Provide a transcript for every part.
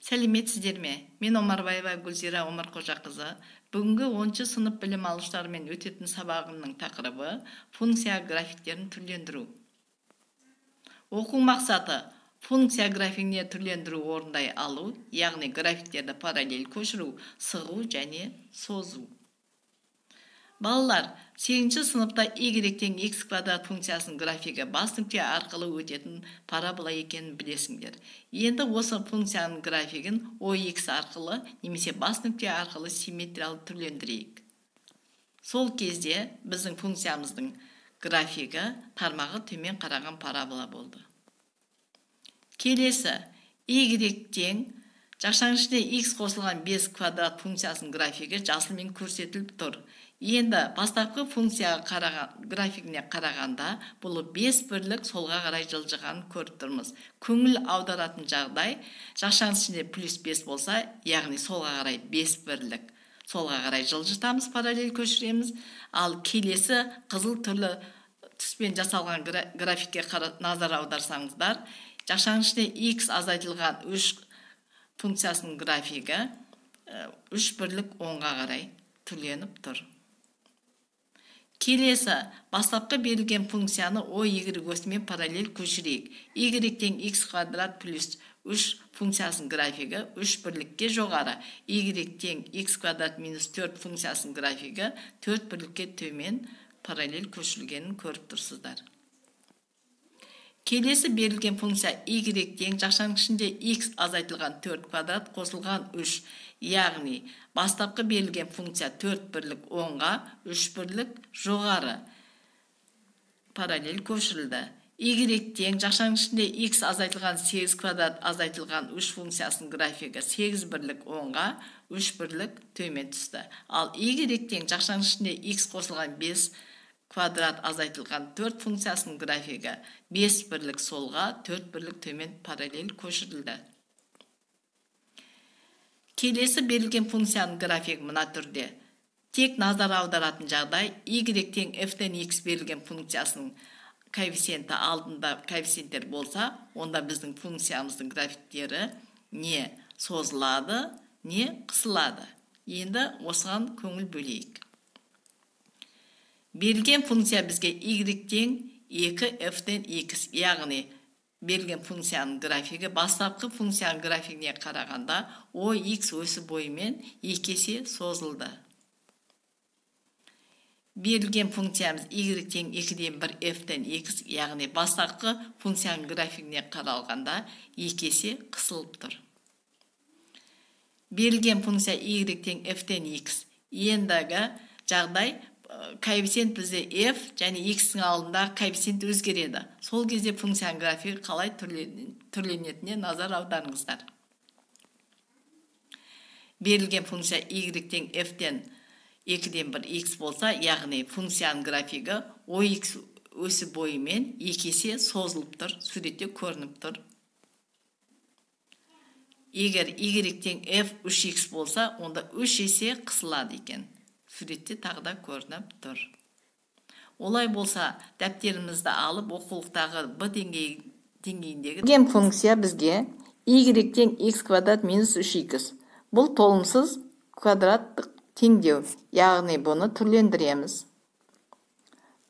Сәлеметсіздер ме? Мен Омарбаева Гүлзира Омарқожақызы. Бүгінгі 10 сынып білім алушылармен өтетін сабағымның тақырыбы функция графиктерін түрлендіру. Оқу мақсаты функция графигіне түрлендіру орындай алу, яғни графиктерді параллель көшіру, сығу және созу. Балалар, 8 сыныпта y-тен x квадрат функциясының графигі бас нүкте арқылы өтетін парабола екенін білесіңдер. Енді осы функцияның графигін OX арқылы немесе бас нүкте арқылы симметриялы түрлендірейік. Сол кезде біздің функциямыздың графигі тармағы төмен қараған парабола болды. Келесі y-тен жақшаның ішіне x қосылған 5 квадрат функциясының графигі жасылмен көрсетіліп тұр. Енді бастапқы функцияға графигіне қарағанда бұл 5 бірлік солға қарай жылжығанын көріп тұрмыз. Көңіл аударатын жағдай жақшаның ішінде плюс 5 болса, яғни солға қарай 5 бірлік солға қарай жылжытамыз, параллель көшіреміз. Ал келесі қызыл түрлі түспен жасалған графикке назар аударсаңыздар, жақшаның ішінде x азайтылған 3 функциясының графигі 3 бірлік 10-ға қарай түрленіп тұр. Келесі, бастапқы берілген функцияны y осымен параллель көшірейік. y-тен x квадрат плюс 3 функциясының графигі 3 бірлікке жоғары. y-тен x квадрат минус 4 функциясының графигі 4 бірлікке төмен параллель көшірілгенін көріп тұрсыздар. Келесі берілген функция y-тен жақшаның ішінде x азайтылған 4 квадрат қосылған 3, яғни бастапқы берілген функция 4 бірлік 10-ға 3 бірлік жоғары параллель көшірілді. y-тен жақшаның ішінде x азайтылған 8 квадрат азайтылған 3 функциясының графигі 8 бірлік 10-ға 3 бірлік төмен түсті. Ал y-тен жақшаның ішінде x қосылған 5 квадрат азайтылған 4 функциясының графигі 5 бірлік солға 4 бірлік төмен параллель көшірілді. Келесі берілген функцияның графигі мына түрде. Тек назар аударатын жағдай y-тен f-тен x берілген функциясының коэффициенті алдында коэффициенттер болса, онда біздің функциямыздың графиктері не созылады, не қысылады. Енді осыған көңіл бөлейік. Берілген функция бізге y-тен 2f-тен x, яғни берілген функцияның графигі бастапқы функцияның графигіне қарағанда OX өсі бойымен 2 есе созылды. Берілген функциямыз y-тен 2-ден 1 f-тен x, яғни бастапқы функцияның графигіне қаралғанда 2 есе қысылып тұр. Берілген функция y-тен f-тен x, ендігі жағдай коэффициент бізде f және x-ің алдында коэффициент өзгереді. Сол кезде функцияның графигі қалай түрленетіне назар аударыңыздар. Берілген функция y-тен f-тен 2-ден 1 x болса, яғни функцияның графигі OX өсі бойымен 2 есе созылып тұр, суретте көрініп тұр. Егер y-тен f 3x болса, онда 3 есе қысылады екен. Суретте тағда көрініп тұр. Олай болса, дәптерімізді алып, оқулықтағы b деңгейіндегі берілген функция бізге y-тен x квадрат минус 3x. Бұл толымсыз квадраттық теңдеу, яғни бұны түрлендіреміз.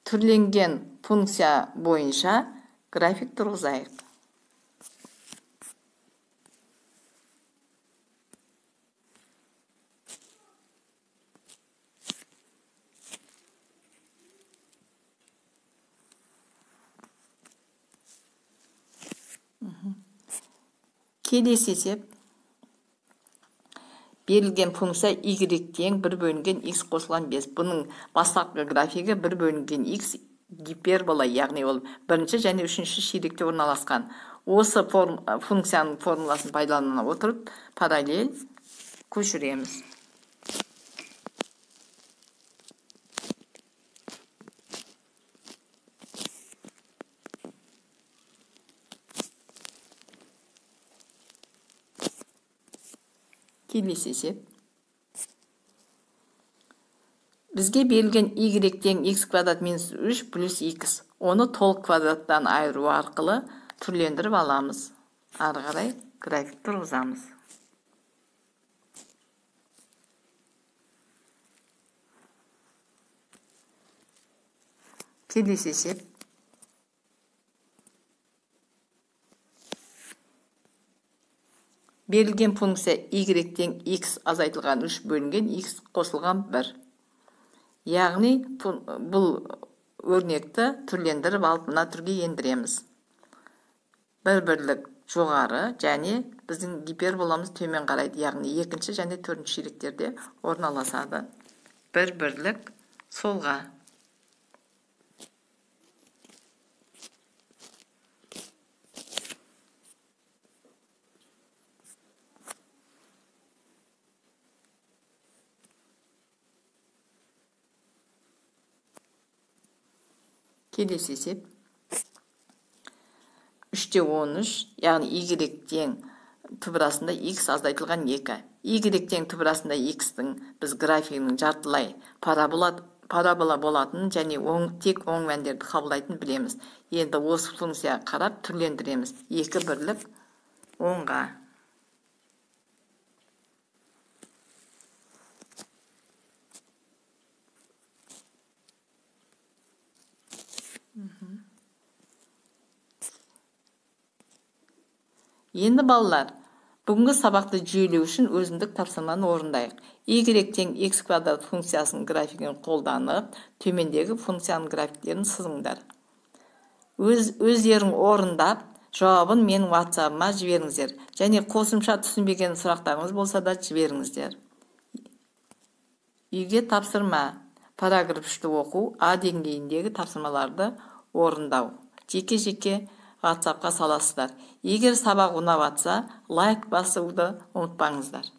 Түрленген функция бойынша график тұрғызайық. Келесі есеп. Берілген функция y-тен 1 бөлінген x қосылған 5. Бұның бастапқы графигі 1 бөлінген x гипербола, яғни ол бірінші және үшінші ширекте орналасқан. Осы функцияның формуласын пайдалана отырып, параллель көшіреміз. Келесі есеп. Бізге берілген y-тен x квадрат минус 3 плюс x. Оны толық квадраттан айыру арқылы түрлендіріп аламыз. Ары қарай график тұрғызамыз. Келесі есеп. Берілген функция y тең x азайтылған 3 бөлінген x қосылған 1. Яғни бұл өрнекті түрлендіріп алып мына түрге ендіреміз. Бір-бірлік жоғары және біздің гиперболамыз төмен қарайды. Яғни екінші және төртінші ширектерде орналасады. Бір-бірлік солға. Келесі есеп. 3-те 13, яғни y тең түбірасында x азайтылған 2. Y тең түбірасында x-тің біз графигінің жартылай парабола болатынын және тек оң мәндерді қабылдайтынын білеміз. Енді осы функцияға қарап түрлендіреміз. 2 бірлік оңға. Енді балалар, бүгінгі сабақты жүйелеу үшін өзіндік тапсырманы орындайық. Y тең x квадрат функциясының графигін қолданып, төмендегі функцияның графиктерін сызыңдар. Өздерің орындап, жауабын менің WhatsApp-ыма жіберіңіздер. Және қосымша түсінбеген сұрақтарыңыз болса да жіберіңіздер. Үйге тапсырма. Параграф 3-ті оқу, А деңгейіндегі тапсырмаларды орындау. Жеке-жеке WhatsApp-қа саласыздар. Егер сабақ ұнап жатса, лайк басуды ұмытпаңыздар.